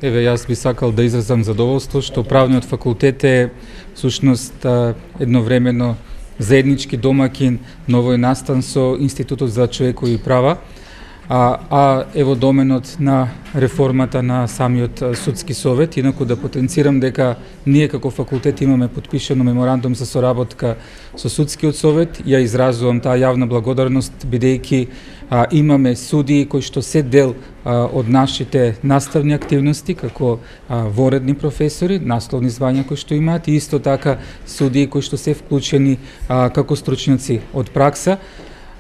Еве, јас би сакал да изразам задоволство што правниот факултет е всушност едновремено заеднички домакин на овој настан со Институтот за човекови права, а ево доменот на реформата на самиот судски совет. Инаку да потенцирам дека ние како факултет имаме подпишано меморандум за соработка со судскиот совет. Ја изразувам таа јавна благодарност бидејќи имаме судии кои што се дел од нашите наставни активности како воредни професори, насловни звања кои што имаат, и исто така судии кои што се вклучени како стручњаци од пракса.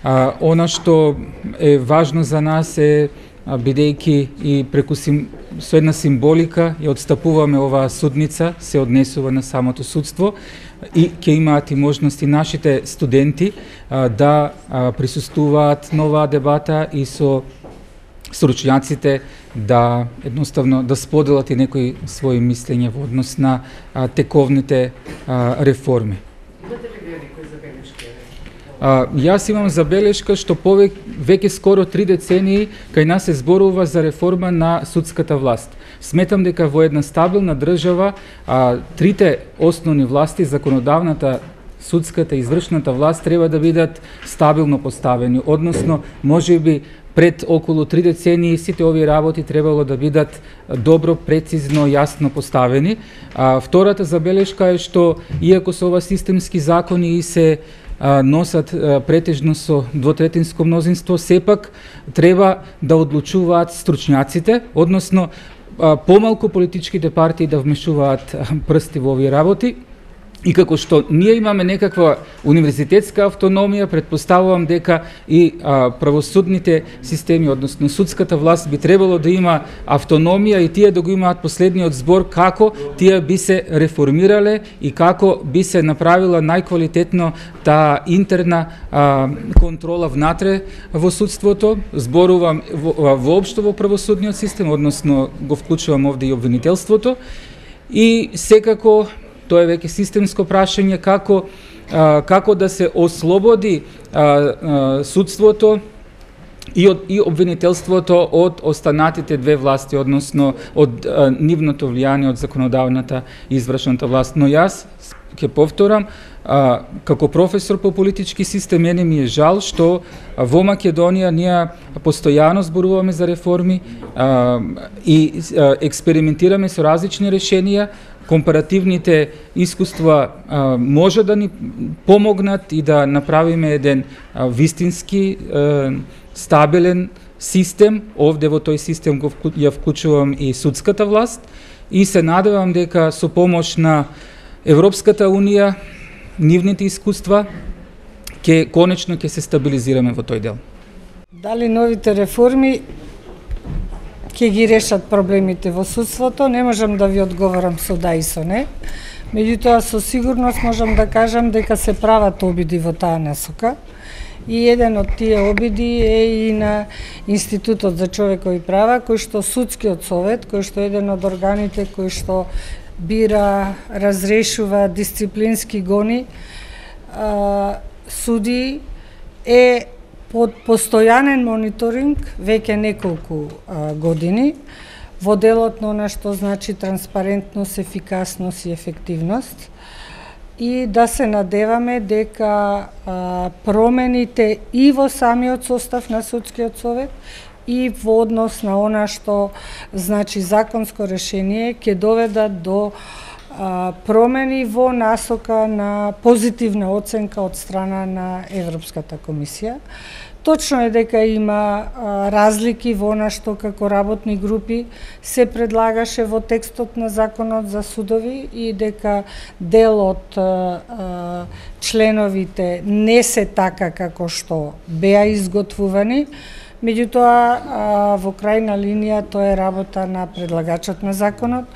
Она што е важно за нас е, бидејќи и преку со една символика ја отстапуваме оваа судница, се однесува на самото судство, и ќе имаат и можности нашите студенти да присуствуваат на оваа дебата и со стручњаците да едноставно да споделат и некои своји мислења во однос на тековните реформи. Јас имам забелешка што веќе скоро 3 децении кај нас се зборува за реформа на судската власт. Сметам дека во една стабилна држава трите основни власти, законодавната, судската и извршната власт, треба да бидат стабилно поставени. Односно, можеби пред околу 3 децении сите овие работи требало да бидат добро, прецизно, јасно поставени. Втората забелешка е што иако се ова системски закони и се носат претежно со двотретинско мнозинство, сепак треба да одлучуваат стручњаците, односно помалку политичките партии да вмешуваат прсти во овие работи. И како што ние имаме некаква универзитетска автономија, предпоставувам дека и правосудните системи, односно судската власт, би требало да има автономија и тие да го имаат последниот збор како тие би се реформирале и како би се направила најквалитетно таа интерна контрола внатре во судството. Зборувам воопшто во правосудниот систем, односно го вклучувам овде и обвинителството, и секако тоа е веќе системско прашање како да се ослободи судството и обвинителството од останатите две власти, односно од нивното влијание од законодавната и извршната власт. Но јас ќе повторам, како професор по политички систем, мене ми е жал што во Македонија ние постојано зборуваме за реформи и експериментираме со различни решенија. Компаративните искуства може да ни помогнат и да направиме еден вистински стабилен систем. Овде во тој систем ја вклучувам и судската власт и се надевам дека со помош на Европската унија, нивните искуства, конечно ќе се стабилизираме во тој дел. Дали новите реформи ќе ги решат проблемите во судството, не можам да ви одговорам со да и со не. Меѓутоа, со сигурност можам да кажам дека се прават обиди во таа насока. И еден од тие обиди е и на Институтот за човекови права, кој што судскиот совет, кој што е еден од органите кој што бира, разрешува, дисциплински гони судии, е под постојанен мониторинг веќе неколку години во делот на она што значи транспарентност, ефикасност и ефективност, и да се надеваме дека промените и во самиот состав на судскиот совет и во однос на она што значи законско решение ќе доведат до промени во насока на позитивна оценка од страна на Европската комисија. Точно е дека има разлики во она што како работни групи се предлагаше во текстот на законот за судови и дека дел од членовите не се така како што беа изготвувани. Меѓутоа, во крајна линија, тоа е работа на предлагачот на законот.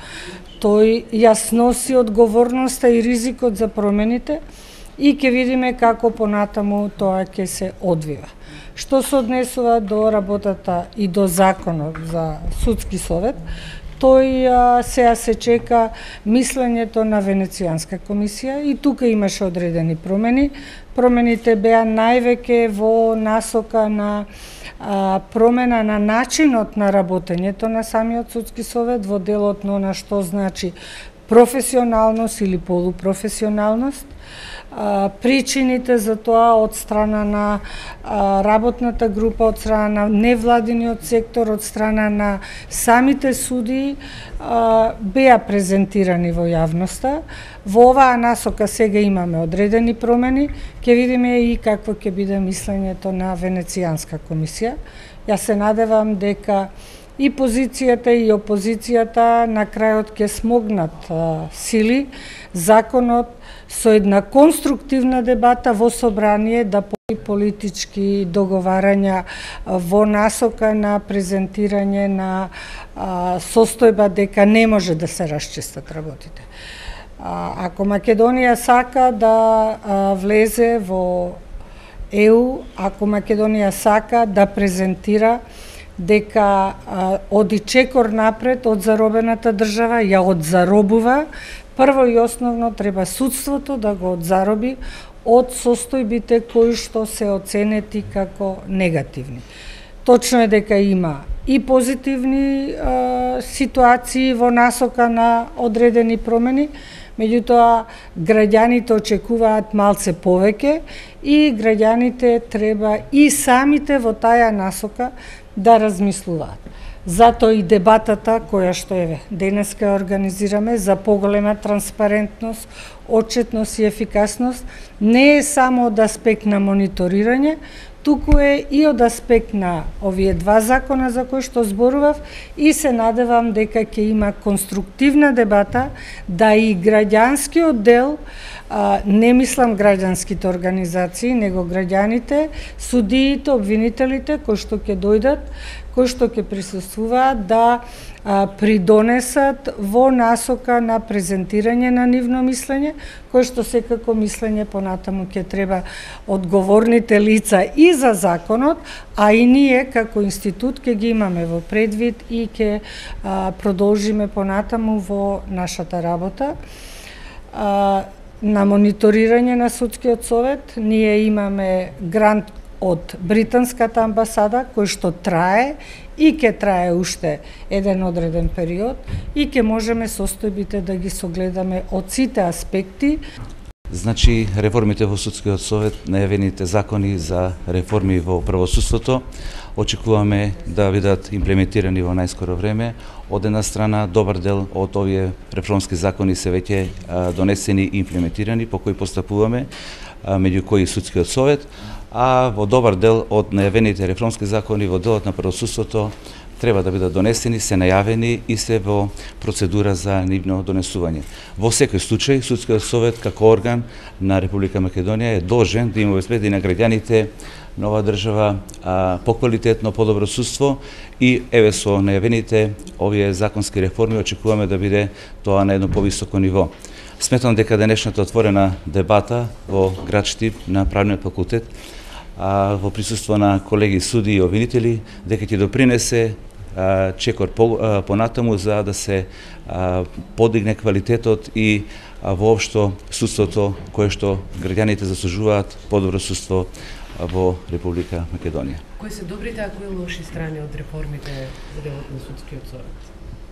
Тој ја носи одговорноста и ризикот за промените и ќе видиме како понатаму тоа ќе се одвива. Што се однесува до работата и до законот за судски совет, тој сега се чека мислењето на Венецијанска комисија и тука имаше одредени промени. Промените беа највеќе во насока на промена на начинот на работењето на самиот судски совет во делот на што значи професионалност или полупрофесионалност, причините за тоа од страна на работната група, од страна на невладиниот сектор, од страна на самите судии беа презентирани во јавноста. Во оваа насока сега имаме одредени промени, ќе видиме и какво ќе биде мислењето на Венецијанска комисија. Јас се надевам дека и позицијата и опозицијата на крајот ќе смогнат сили законот со една конструктивна дебата во собрание да политички договарања во насока на презентирање на состојба дека не може да се расчистат работите. Ако Македонија сака да влезе во ЕУ, ако Македонија сака да презентира дека оди чекор напред од заробената држава, ја одзаробува, прво и основно треба судството да го одзароби од состојбите кои што се оценети како негативни. Точно е дека има и позитивни ситуации во насока на одредени промени, меѓутоа граѓаните очекуваат малце повеќе и граѓаните треба и самите во таја насока да размислуваат. Затоа и дебатата која што денеска организираме за поголема транспарентност, отчетност и ефикасност не е само од аспект на мониторирање, туку е и од аспект на овие два закона за кои што зборував и се надевам дека ќе има конструктивна дебата да и граѓанскиот дел, не мислам граѓанските организации, него граѓаните, судиите, обвинителите кои што ќе дојдат, кои што ќе присуствуваат да придонесат во насока на презентирање на нивно мислење, кој што секако мислење понатаму ќе треба одговорните лица и за законот, а и ние како институт ќе ги имаме во предвид и ќе продолжиме понатаму во нашата работа. На мониторирање на судскиот совет ние имаме грант од британската амбасада кој што трае и ќе трае уште еден одреден период и ќе можеме состојбите да ги согледаме од сите аспекти. Значи, реформите во судскиот совет, најавените закони за реформи во правосудството, очекуваме да бидат имплементирани во најскоро време. Од една страна, добар дел од овие реформски закони се веќе донесени и имплементирани, по кои постапуваме, меѓу кои судскиот совет, а во добар дел од најавените реформски закони во делот на правосудството треба да бидат донесени, се најавени и се во процедура за нивно донесување. Во секој случај, судскиот совет како орган на Република Македонија е должен да им обезбеди на граѓаните на оваа држава поквалитетно, подобро судство и еве со најавените овие законски реформи очекуваме да биде тоа на едно повисоко ниво. Сметам дека денешната отворена дебата во град Штип на Правниот факултет во присуство на колеги суди и обвинители дека ќе допринесе чекор понатаму за да се подигне квалитетот и воопшто судството кое што граѓаните заслужуваат подобро судство во Република Македонија. Кои се добрите, а кои лоши страни од реформите во делот на судскиот совет?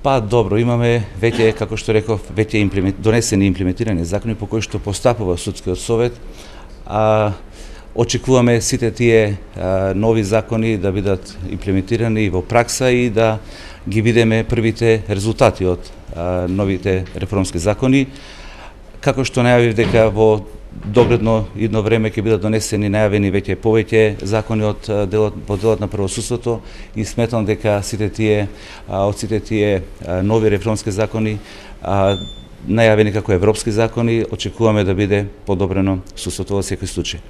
Па добро, имаме веќе, како што реков, веќе донесени и имплементирани закони по кои што постапува судскиот совет, очекуваме сите тие нови закони да бидат имплементирани во пракса и да ги видиме првите резултати од новите реформски закони. Како што најавив дека во догледно идно време ќе бидат донесени најавени веќе повеќе закони од делот на правосудството и сметам дека сите тие нови реформски закони најавени како европски закони очекуваме да биде подобрено судството во секој случај.